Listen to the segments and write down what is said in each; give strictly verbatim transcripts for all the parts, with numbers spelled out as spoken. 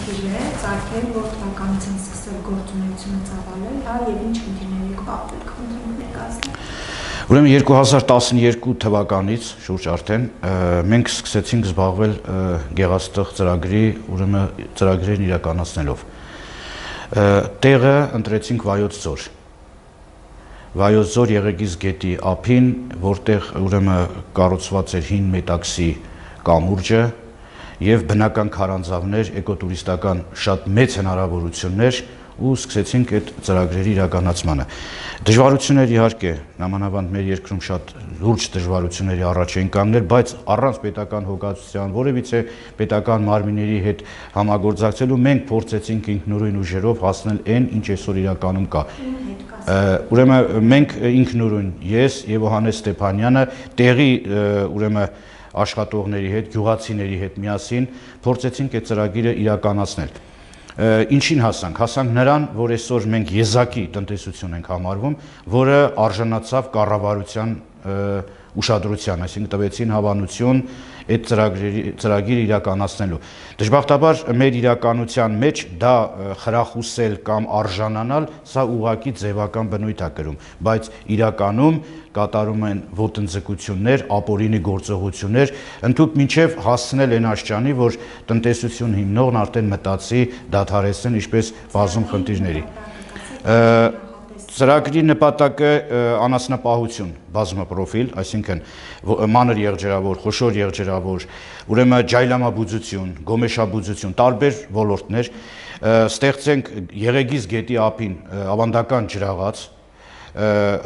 խնդիր է ծագել, որ թվականից են սկսել գործունեությունը ծավալել, հա, եւ ինչ խնդիրներ եք պատմել, խնդիրներ ներկայացնել։ Ուրեմն երկու հազար տասնյոթ թվականից շուրջ արդեն մենք սկսեցինք զբաղվել գեղաստղ ծրագրի, ուրեմն ծրագրերն իրականացնելով։ Տեղը ընտրեցինք Վայոց ձոր։ Վայոց ձոր Եղեգիս գետի ափին, որտեղ ուրեմն կառուցված էր հին մետաքսի կամուրջը եւ բնական քարանձավներ, էկոտուրիստական շատ մեծ հնարավորություններ ու սկսեցինք այդ ծրագրերի իրականացմանը։ Դժվարություններ իհարկե, նամանավանդ մեր երկրում շատ լուրջ դժվարությունների առաջ էին կանգնել, բայց առանց պետական հոգացության, որևիցե պետական մարմինների հետ համագործակցելու մենք փորձեցինք ինքնուրույն ուժերով հասնել այն, ինչ այսօր իրականում կա։ Ուրեմն մենք ինքնուրույն, ես եւ Հովհաննես Ստեփանյանը տեղի ուրեմն աշխատողների հետ, գյուղացիների հետ միասին փորձեցինք այդ ծրագիրը իրականացնել։ Ինչին հասանք, հասանք նրան, որ այսօր մենք եզակի տնտեսություն ենք համարվում, որը արժանացավ կառավարության ուշադրության, այսինքն տվեցին հավանություն այդ ծրագիրը իրականացնելու։ Դժբախտաբար մեր իրականության մեջ դա խրախուսել կամ արժանանալ, սա ուղղակի ձևական բնույթ է կրում, բայց իրականում կատարում են ոտնձգություններ, ապօրինի գործողություններ, ընդհուպ մինչև հասցնել այն աշխարհի, որ տնտեսություն հիմնողն արդեն մտածի դադարեցնել ինչպես բազում խնդիրների։ Ծրագրի նպատակը անասնապահություն, բազմապրոֆիլ, այսինքն մանր եղջերավոր, խոշոր եղջերավոր, ուրեմն ջայլամաբուծություն, գոմեշաբուծություն, տարբեր ոլորտներ, ստեղծենք Եղեգիս գետի ափին ավանդական ջրաղաց,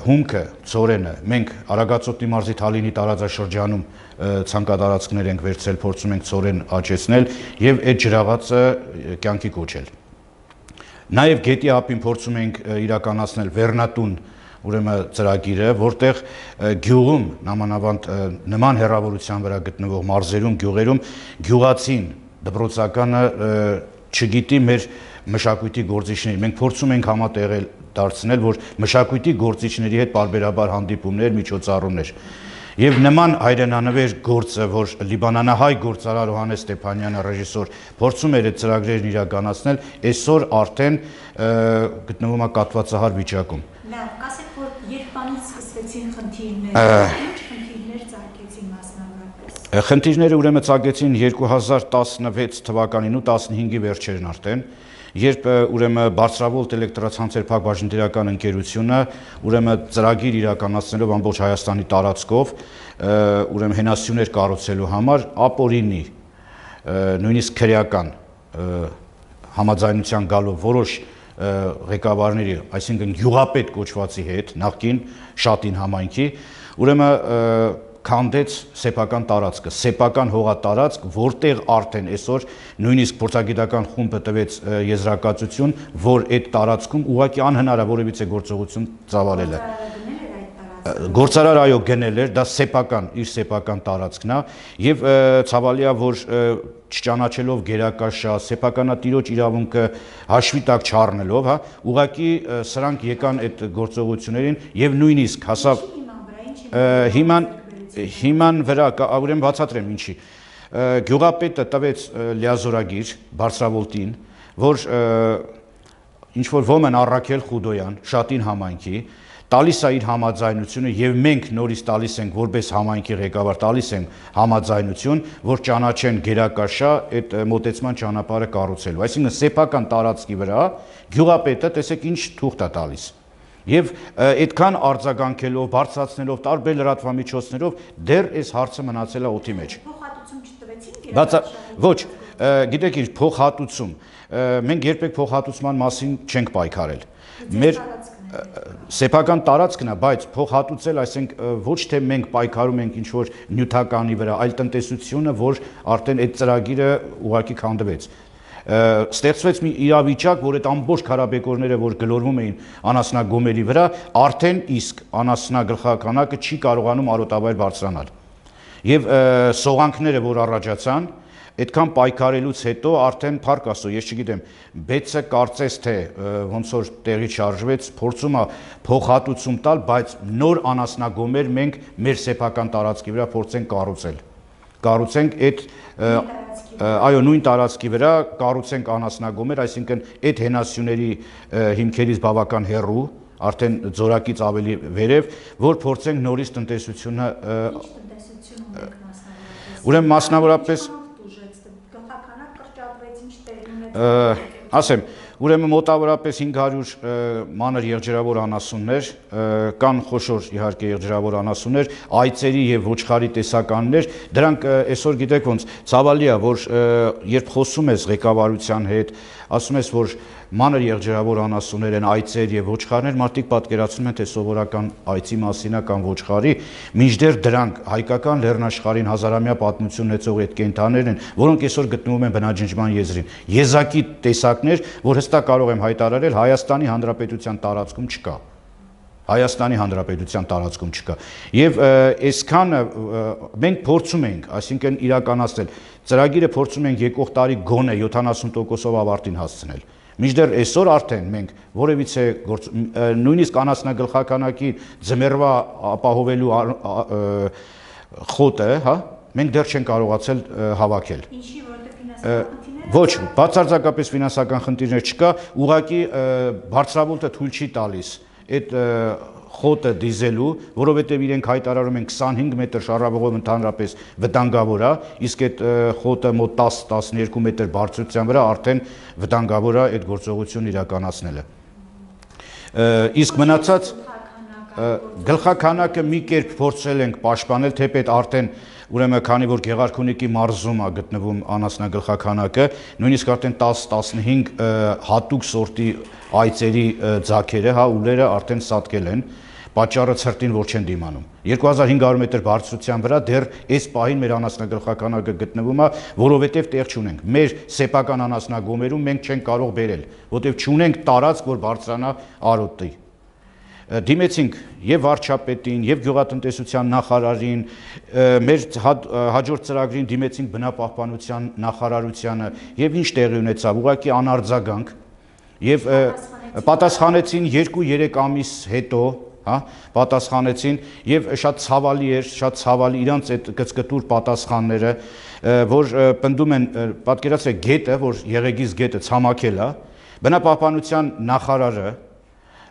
հումքը, ծորենը, մենք Արագածոտնի մարզի Թալինի տարածաշրջանում ցանկատարածքներ ենք վերցրել, փորձում ենք ծորեն աճեցնել եւ այդ ջրաղացը կյանքի կոչել։ Նաև գետի ափին փորձում ենք իրականացնել Վերնատուն ուրեմն ծրագիրը, որտեղ գյուղում նամանավանդ նման հեռավորության վրա գտնվող մարզերում, գյուղերում գյուղացին դպրոցականը չգիտի մեր մշակույթի գործիչների։ Մենք փորձում ենք համատեղել դարձնել, որ մշակույթի գործիչների հետ պարբերաբար հանդիպումներ, միջոցառումներ։ Եվ նման հայրենանվեր գործը, որ լիբանանահայ գործարար Հովհաննես Ստեփանյանը ռեժիսոր փորձում էր այդ ծրագրերն իրականացնել, այսօր արդեն գտնվում է կաթվածահար վիճակում։ Լավ, կասեք, որ երբանից սկսվեցին խնդիրները, ինչ խնդիրներ ծագեցին մասնավորապես։ Խնդիրները ուրեմն ծագեցին երկու հազար տասնվեց թվականին ու տասնհինգի վերջերին արդեն, երբ ուրեմն Բարձրավոլտ էլեկտրացանցեր փակ բաժնետիրական ընկերությունը ուրեմն ծրագիր իրականացնելով ամբողջ Հայաստանի տարածքով ուրեմն հենասյուներ կառուցելու համար ապօրինի նույնիսկ քրեական համաձայնության գալով որոշ ղեկավարների, այսինքն գյուղապետ կոչվածի հետ, նախկին Շատին համայնքի, ուրեմն քանդեց սեփական տարածքը, սեփական հողատարածք, որտեղ արդեն այսօր նույնիսկ փորձագիտական խումբը տվեց եզրակացություն, որ այդ տարածքում ուղղակի անհնար է որևիցե գործողություն ծավալելը։ Գործարար այո գնել էր, դա սեփական, իր սեփական տարածքն է, եւ ցավալի է, որ չճանաչելով գերակաշա, սեփականատիրոջ իրավունքը հաշվի տակ չառնելով, հա, ուղղակի սրանք եկան այդ գործողություններին եւ նույնիսկ հասավ հիման Հիման վրա, ուրեմն բացատրեմ ինչի, գյուղապետը տվեց լիազորագիր Բարձրավոլտին, որ ինչ-որ ոմն Առաքել Խուդոյան, Շատին համայնքի, տալիս է իր համաձայնությունը եւ մենք նորից տալիս ենք որպես համայնքի ղեկավար տալիս ենք համաձայնություն, որ ճանաչեն գերակաշա այդ մոտեցման ճանապարհը կառուցելու։ Այսինքն սեփական տարածքի վրա գյուղապետը տեսեք ինչ թուղթ է տալիս։ Եվ այդքան արձագանքելով, բարձրացնելով տարբեր լրատվամիջոցներով դեռ այս հարցը մնացել է օդի մեջ։ Փոխհատուցում չտվեցին։ Ոչ, գիտեք ինչ, փոխհատուցում։ Մենք երբեք փոխհատուցման մասին չենք պայքարել։ Մեր սեփական տարածքն է, բայց փոխհատուցել, այսինքն ոչ թե մենք պայքարում ենք ինչ-որ նյութականի վրա, այլ տնտեսությունը, որ արդեն այդ ծրագիրը ուղղակի քանդվեց։ Ստեղծվեց մի իրավիճակ, որ այդ ամբողջ քարաբեկորները, որ գլորվում էին անասնագոմերի վրա, արդեն իսկ անասնագլխականակը չի կարողանում արոտավայր բարձրանալ։ Եվ սողանքները, որ առաջացան, այդքան պայքարելուց հետո արդեն փառք Աստծո, ես չգիտեմ, բեցը կարծես թե ոնց որ տեղի շարժվեց, փորձում է փոխհատուցում տալ, բայց նոր անասնագոմեր մենք մեր սեփական տարածքի վրա փորձենք կառուցել։ կառուցենք այդ այո նույն տարածքի վրա կառուցենք անասնագոմեր, այսինքն այդ հենասյուների հիմքերից բավական հեռու, արդեն ձորակից ավելի վերև, որ փորձենք նորից տնտեսությունը ուրեմն մասնավորապես ասեմ, ուրեմն մոտավորապես հինգ հարյուր մանր եղջերավոր անասուններ, կան խոշոր իհարկե եղջերավոր անասուններ, այծերի եւ ոչխարի տեսականներ, դրանք այսօր գիտեք ոնց ցավալի է, որ երբ խոսում ես ղեկավարության հետ, ասում ես, որ մանր եղջերավոր անասուններ են, այծեր եւ ոչխարներ, մարդիկ պատկերացնում են, թե սովորական այծի մասին է կամ ոչխարի, մինչդեռ դրանք հայկական լեռնաշխարհին հազարամյա պատմություն ունեցող այդ կենդաններն են, որոնք այսօր գտնվում են բնաջնջման եզրին։ Եզակի տեսակներ, որ հստակ կարող եմ հայտարարել, Հայաստանի Հանրապետության տարածքում չկա։ Հայաստանի Հանրապետության տարածքում չկա։ Եվ այսքանը մենք փորձում ենք, այսինքն իրականացնել, ծրագիրը փորձում ենք եկող տարի գոնե յոթանասուն տոկոսով ավարտին հասցնել։ Մինչդեռ այսօր արդեն մենք որևիցե նույնիսկ անասնագլխականակի ձմեռվա ապահովելու խոտը, հա, մենք դեռ չենք կարողացել հավաքել։ Ինչի, որտեղ ֆինանսական Ոչ, բացարձակապես ֆինանսական խնդիրներ չկա, ուղղակի բարձրավոլտը թույլ չի տալիս այդ խոտը դիզելու, որովհետև իրենք հայտարարում են քսանհինգ մետր շարավողով ընդհանրապես վտանգավոր է, իսկ այդ խոտը մոտ տաս տասնյոթ մետր բարձրության վրա արդեն վտանգավոր է այդ գործողությունն իրականացնելը։ Իսկ մնացած գլխաքանակը մի կերպ փորձել ենք պաշտպանել, թեպետ արդեն ուրեմն քանի որ Գեղարքունիքի մարզում է գտնվում անասնագլխաքանակը, նույնիսկ արդեն տաս տասնհինգ հատուկ սորտի այծերի ձագերը, հա, ուլերը արդեն սատկել են, պատճառը ցրտին որ չեն դիմանում։ երկու հազար հինգ հարյուր մետր բարձրության վրա դեռ այս պահին մեր անասնագլխականակը գտնվում է, որովհետև տեղ չունենք։ Մեր սեփական անասնագոմերում մենք չենք կարող բերել, որովհետև չունենք տարածք, որ բարձրանա արոտի։ Դիմեցինք եւ վարչապետին, եւ գյուղատնտեսության նախարարին, մեր հաջորդ ծրագրին դիմեցինք բնապահպանության նախարարությանը եւ ինչ տեղի ունեցավ, ուղղակի անարձագանք եւ պատասխանեցին երկու-երեք ամիս հետո, հա, պատասխանեցին եւ շատ ցավալի էր, շատ ցավալի իրանց այդ գծկտուր պատասխանները, որ պնդում են, պատկերացրեք գետը, որ Եղեգիս գետը ցամաքել է, բնապահպանության նախարարը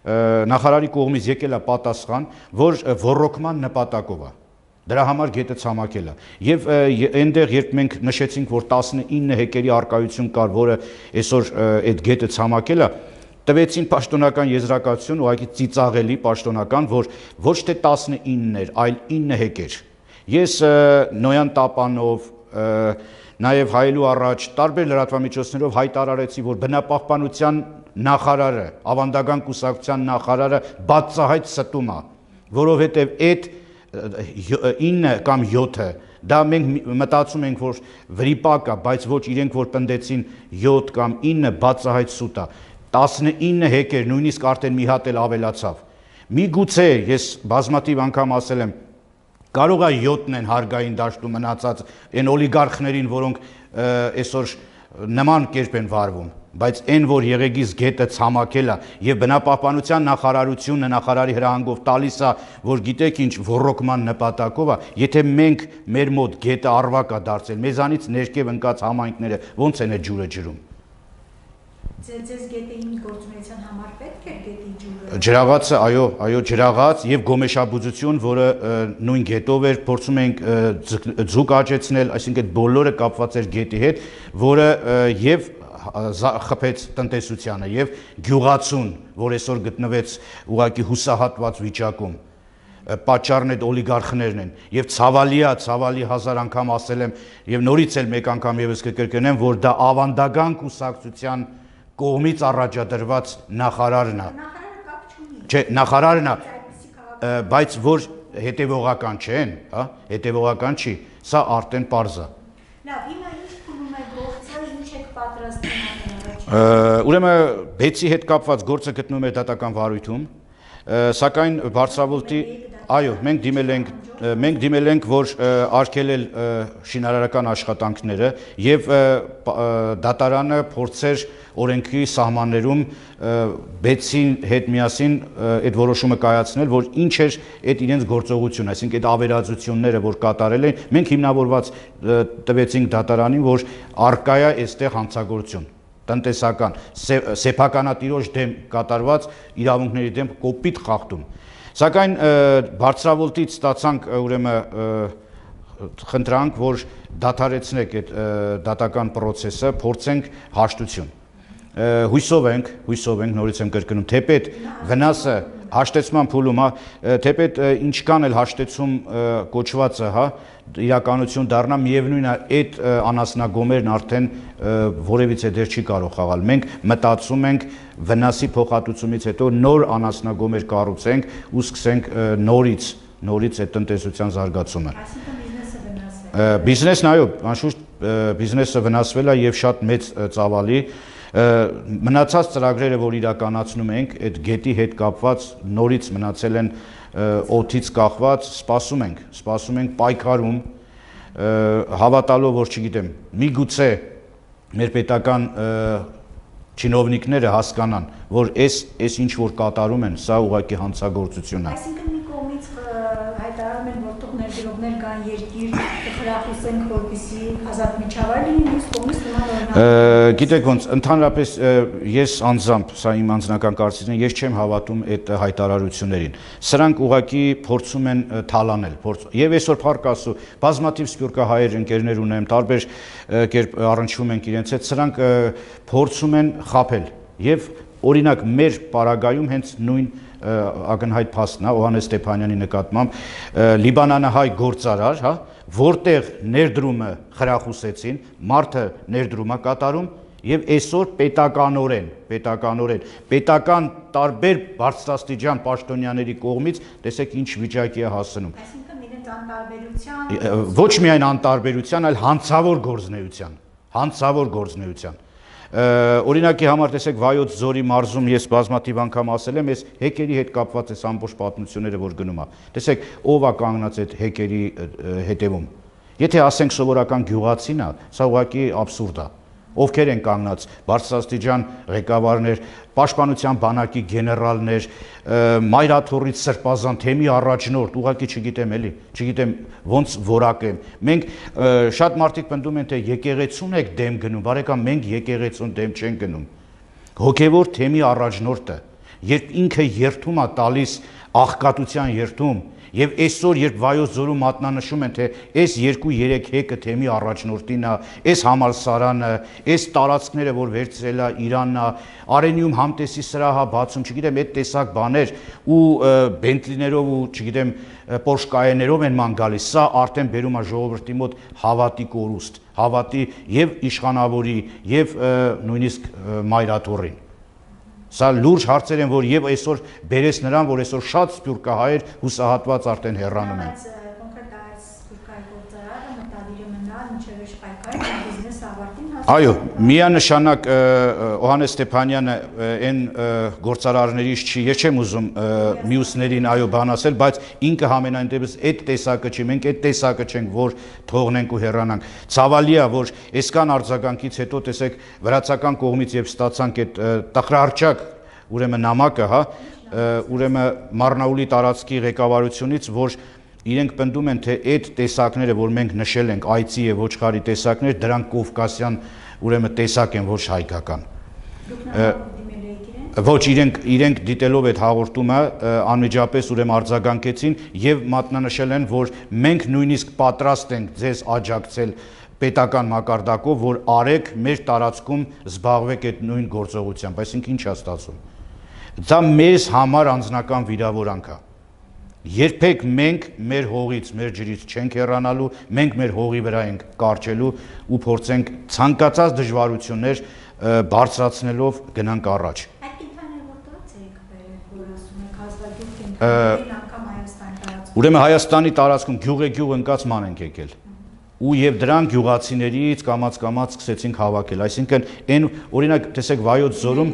նախարարի կողմից եկել է պատասխան, որ ոռոգման նպատակով է։ Դրա համար գետը ցամաքել է։ Եվ այնտեղ երբ մենք նշեցինք, որ տասնինը հեկտարի արկայություն կար, որը այսօր այդ գետը ցամաքել է, տվեցին պաշտոնական եզրակացություն, ուղղակի ծիծաղելի պաշտոնական, որ ոչ թե տասնինն էր, այլ ինը հեկտար։ Ես Նոյան Տապանով, նաև հայելու առաջ տարբեր լրատվամիջոցներով հայտարարեցի, որ բնապահպանության նախարարը, ավանդական կուսակցության նախարարը բացահայտ ստում է, որովհետև այդ ինը կամ յոթը դա մենք մտածում ենք, որ վրիպակ է, բայց ոչ իրենք որ պնդեցին յոթ կամ ինը բացահայտ սուտ է, տասնինը հեկտար, նույնիսկ արդեն մի հատ էլ ավելացավ։ Միգուցե ես բազմաթիվ անգամ ասել եմ, կարող է յոթն են հարգային դաշտում մնացած այն օլիգարխներին, որոնք այսօր նման կերպ են վարվում, բայց այն որ Եղեգիս գետը ցամաքել է եւ բնապահպանության նախարարությունը նախարարի հրահանգով տալիս է, որ գիտեք ինչ ոռոգման նպատակով է, եթե մենք մեր մոտ գետը արվակ է դարձել, մեզանից ներքև ընկած համայնքները ո՞նց են այդ ջուրը ջրում։ Ձեզ գետին գործունեության համար պետք է գետի ջուրը։ Ջրաղացը, այո, այո, ջրաղաց եւ գոմեշաբուծություն, որը նույն գետով էր, փորձում ենք ձուկ աճեցնել, այսինքն բոլորը կապված էր գետի հետ, որը եւ խփեց տնտեսությանը եւ գյուղացուն, որ այսօր գտնվեց ուղակի հուսահատված վիճակում, պատճառն այդ օլիգարխներն են եւ ցավալի է, ցավալի հազար անգամ ասել եմ եւ նորից էլ մեկ անգամ եւս կկրկնեմ, որ դա ավանդական կուսակցության կողմից առաջադրված նախարարն է։ Նախարարը կապ չունի։ Չէ, նախարարն է, բայց որ հետևողական չեն, հա, հետևողական չի, սա արդեն պարզ է։ Լավ, հիմա ինչ փուլում է գործը, ինչ եք պատրաստվում։ Ուրեմն բեցի հետ կապված գործը գտնվում է դատական վարույթում, սակայն բարձրավոլտի Այո, մենք դիմել ենք մենք դիմել ենք, որ արգելել շինարարական աշխատանքները եւ դատարանը փորձեր օրենքի սահմաններում բեցին հետ միասին այդ որոշումը կայացնել, որ ինչ էր այդ իրենց գործողությունը, այսինքն այդ ավերածությունները, որ կատարել են, մենք հիմնավորված տվեցինք դատարանին, որ արկա է այստեղ հանցագործություն տնտեսական սեփականատիրոջ դեմ կատարված իրավունքների դեմ կոպիտ խախտում։ Սակայն բարձրավոլտից ստացանք ուրեմն խնդրանք, որ դադարեցնեք այդ դատական process-ը, փորձենք հաշտություն։ Հույսով ենք, հույսով ենք, նորից եմ կրկնում, թեպետ վնասը հաշտեցման փուլում, հա, թեպետ ինչքան էլ հաշտեցում կոչվածը, հա, իրականություն դառնա, միևնույն է, այդ անասնագոմերն արդեն որևիցե դեր չի կարող խաղալ։ Մենք մտածում ենք վնասի փոխհատուցումից հետո նոր անասնագոմեր կառուցենք ու սկսենք նորից, նորից այդ տնտեսության զարգացումը։ Բիզնեսն, այո, անշուշտ բիզնեսը վնասվել է եւ շատ մեծ ծավալի։ Մնացած ծրագրերը, որ իրականացնում ենք, այդ գետի հետ կապված նորից մնացել են օդից կախված, սպասում ենք, սպասում ենք պայքարում, հավատալով, որ չգիտեմ, միգուցե մեր պետական չինովնիկները հասկանան, որ այս այս ինչ որ կատարում են, սա ուղղակի հանցագործություն է։ Այսինքն մի կողմից հայտարարում են, որ թող ներդրողներ կան երկիր, խրախուսենք, որպեսզի ազատ միջավայր լինի, մյուս կողմից նման օրինակ։ Գիտեք ոնց, ընդհանրապես ես անձամբ, սա իմ անձնական կարծիքն է, ես չեմ հավատում այդ հայտարարություններին։ Սրանք ուղղակի փորձում են թալանել, եւ այսօր փառք Աստծո, բազմաթիվ սփյուռքահայեր ընկերներ ունեմ, տարբեր կերպ առնչվում ենք իրենց հետ, սրանք փորձում են խաբել եւ օրինակ մեր պարագայում հենց նույն ակնհայտ փաստն է Հովհաննես Ստեփանյանի նկատմամբ լիբանանահայ գործարար, հա, որտեղ ներդրումը խրախուսեցին, մարդը ներդրում է կատարում եւ այսօր պետականորեն, պետականորեն, պետական տարբեր բարձրաստիճան պաշտոնյաների կողմից տեսեք ինչ վիճակի է հասնում։ Այսինքն իրենց անտարբերության ոչ միայն անտարբերության, այլ հանցավոր գործնեության, հանցավոր գործնեության։ Օրինակի համար տեսեք Վայոց ձորի մարզում ես բազմաթիվ անգամ ասել եմ, ես հեկերի հետ կապված այս ամբողջ պատմությունները որ գնում է։ Տեսեք, ով է կանգնած այդ հեկերի հետևում։ Եթե ասենք սովորական գյուղացին է, սա ուղղակի աբսուրդ է։ Ովքեր են կանգնած բարձրաստիճան ղեկավարներ, պաշտպանության բանակի գեներալներ, մայրաթոռից սրբազան թեմի առաջնորդ, ուղղակի չգիտեմ էլի, չգիտեմ ոնց որակեմ։ Մենք շատ մարդիկ պնդում են, թե եկեղեցուն եք դեմ գնում, բարեկամ, մենք եկեղեցուն դեմ չենք գնում։ Հոգևոր թեմի առաջնորդը, երբ ինքը երթում է տալիս աղքատության երթում, եւ այսօր երբ Վայոց ձորում մատնանշում են, թե այս երկու երեք հեկը թեմի առաջնորդին է, այս համալսարանը, այս տարածքները, որ վերցրել է Իրանն է, Արենիում համտեսի սրահ է բացում, չգիտեմ, այդ տեսակ բաներ ու բենտլիներով ու չգիտեմ, պորշկայեներով են ման գալիս, սա արդեն բերում է ժողովրդի մոտ հավատի կորուստ, հավատի եւ իշխանավորի եւ նույնիսկ մայրաթոռին։ Սա լուրջ հարցեր են, որ եւ այսօր բերես նրան, որ այսօր շատ սփյուռքահայեր հուսահատված արդեն հեռանում են։ Կոնկրետ այս սփյուռքահայ գործարարը մտադիր է մնալ մինչև այս պայքարը բիզնեսը ավարտին հասնի։ Այո, միանշանակ Հովհաննես Ստեփանյանը այն գործարարներից չի, ես չեմ ուզում մյուսներին այո բան ասել, բայց ինքը համենայն դեպս այդ տեսակը չի, մենք այդ տեսակը չենք, որ թողնենք ու հեռանանք։ Ցավալի է, որ այսքան արձագանքից հետո տեսեք վրացական կողմից եւ ստացանք այդ տխրահարճակ ուրեմն նամակը, հա, ուրեմն Մարնաուլի տարածքի ղեկավարությունից, որ իրենք պնդում են, թե այդ տեսակները, որ մենք նշել ենք, այծի եւ ոչխարի տեսակներ, դրանք կովկասյան ուրեմն տեսակ են, ոչ հայկական։ Ոչ, իրենք իրենք դիտելով այդ հաղորդումը անմիջապես ուրեմն արձագանքեցին եւ մատնանշել են, որ մենք նույնիսկ պատրաստ ենք ձեզ աջակցել պետական մակարդակով, որ արեք մեր տարածքում զբաղվեք այդ նույն գործողությամբ, այսինքն ինչ է ստացվում։ Դա մեզ համար անձնական վիրավորանք է։ Երբեք մենք մեր հողից, մեր ջրից չենք հեռանալու, մենք մեր հողի վրա ենք կարճելու ու փորձենք ցանկացած դժվարություններ բարձրացնելով գնանք առաջ։ Այդ կենտրոնները որտեղից եք բերել, որ ասում եք հազվագյուղ կենտրոններին անգամ Հայաստանի տարածքում։ Ուրեմն Հայաստանի տարածքում գյուղ-գյուղ ընկած ման ենք եկել։ Ու եւ դրանք գյուղացիներից կամած-կամած սկսեցինք հավաքել, այսինքն այն օրինակ տեսեք Վայոց ձորում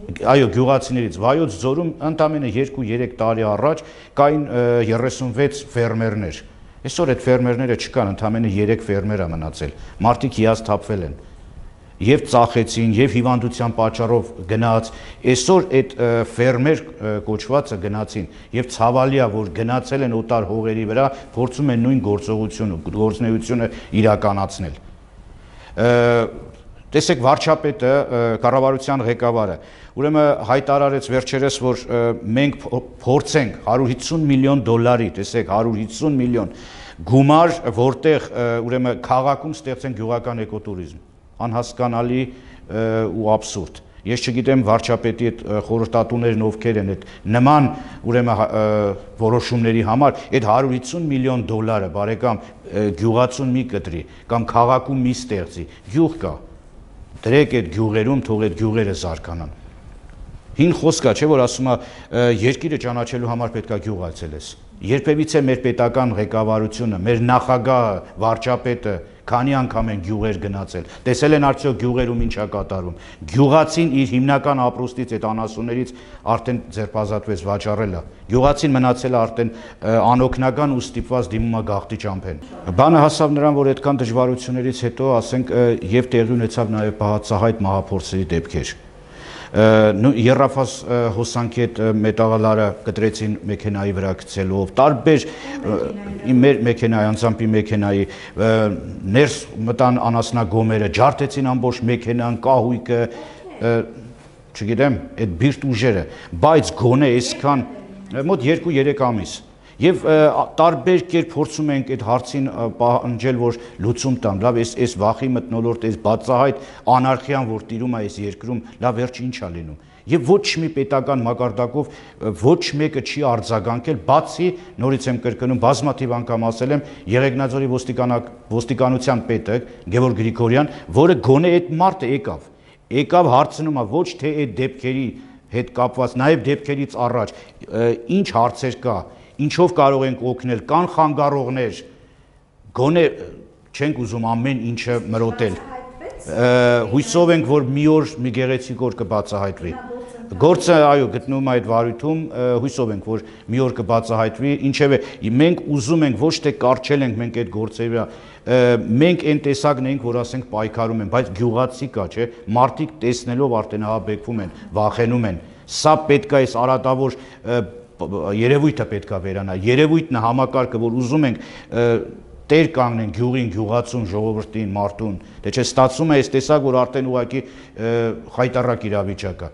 այո, գյուղացիներից Վայոց ձորում ընդամենը երկու-երեք տարի առաջ կային երեսունվեց ֆերմերներ։ Այսօր այդ ֆերմերները չկան, ընդամենը երեք ֆերմեր է մնացել։ Մարդիկ հիասթափվել են։ Եվ ծախեցին, եւ հիվանդության պատճառով գնաց, այսօր այդ ֆերմեր կոչվածը գնացին, եւ ցավալի է, որ գնացել են օտար հողերի վրա, փորձում են նույն գործողությունը, գործունեությունը իրականացնել։ Տեսեք, վարչապետը, կառավարության ղեկավարը, ուրեմն հայտարարեց վերջերս, որ մենք փորձենք հարյուր հիսուն միլիոն դոլարի, տեսեք, հարյուր հիսուն միլիոն գումար, որտեղ ուրեմն քաղաքում ստեղծեն գյուղական էկոտուրիզմ, անհասկանալի ու աբսուրդ։ Ես չգիտեմ վարչապետի այդ խորհրդատուներն ովքեր են այդ նման ուրեմն որոշումների համար, այդ հարյուր հիսուն միլիոն դոլարը, բարեկամ, գյուղացուն մի կտրի կամ քաղաքում մի ստեղծի, գյուղ կա, դրեք այդ գյուղերում, թող այդ գյուղերը զարգանան։ Հին խոսք է, չէ՞ որ ասում է երկիրը ճանաչելու համար պետք է գյուղ այցելես։ Երբևիցե մեր պետական ղեկավարությունը, մեր նախագահը, վարչապետը քանի անգամ են գյուղեր գնացել, տեսել են արդյոք գյուղերում ինչ է կատարում։ Գյուղացին իր հիմնական ապրուստից, այդ անասուններից արդեն ձերբազատվեց, վաճառել է։ Գյուղացին մնացել է արդեն անօգնական ու ստիպված դիմում է գաղթի ճամփեն։ Բանը հասավ նրան, որ այդքան դժվարություններից հետո, ասենք, եւ տեղի ունեցավ նաեւ բացահայտ մահափորձերի դեպքեր։ Եռաֆազ հոսանքի այդ մետաղալարը կտրեցին մեքենայի վրա գցելով, տարբեր մեր մեքենայի, անձամբի մեքենայի ներս մտան անասնագոմերը, ջարդեցին ամբողջ մեքենան, կահույքը, չգիտեմ, այդ բիրտ ուժերը, բայց գոնե այսքան մոտ երկու-երեք ամիս Եվ տարբեր կերպ փորձում ենք այդ հարցին պահանջել, որ լուծում տան, լավ, այս այս վախի մթնոլորտ, այս բացահայտ անարխիան, որ տիրում է այս երկրում, լավ, վերջ ինչ է լինում։ Եվ ոչ մի պետական մակարդակով ոչ մեկը չի արձագանքել, բացի, նորից եմ կրկնում, բազմաթիվ անգամ ասել եմ, Եղեգնաձորի ոստիկանության պետը Գևորգ Գրիգորյան, որը գոնե այդ մարդը եկավ, եկավ հարցնում է ոչ թե այդ դեպքերի հետ կապված, նաև դեպքերից առաջ, ինչ հարցեր կա, ինչով կարող ենք օգնել, կան խանգարողներ, գոնե չենք ուզում ամեն ինչը մրոտել, հույսով ենք, որ մի օր մի գեղեցիկ օր կբացահայտվի, գործը այո գտնվում է այդ վարույթում, հույսով ենք, որ մի օր կբացահայտվի, ինչևէ մենք ուզում ենք, ոչ թե կառչել ենք մենք այդ գործերի վրա, մենք այն տեսակն ենք, որ ասենք պայքարում են, բայց գյուղացի կա, չէ, մարդիկ տեսնելով արդեն ահաբեկվում են, վախենում են, սա պետք է այս արատավոր երևույթը պետք է վերանա, երևույթն է համակարգը, որ ուզում ենք տեր կանգնեն գյուղին, գյուղացուն, ժողովրդին, մարդուն, դե չէ ստացվում է այս տեսակ, որ արդեն ուղղակի խայտառակ իրավիճակ է։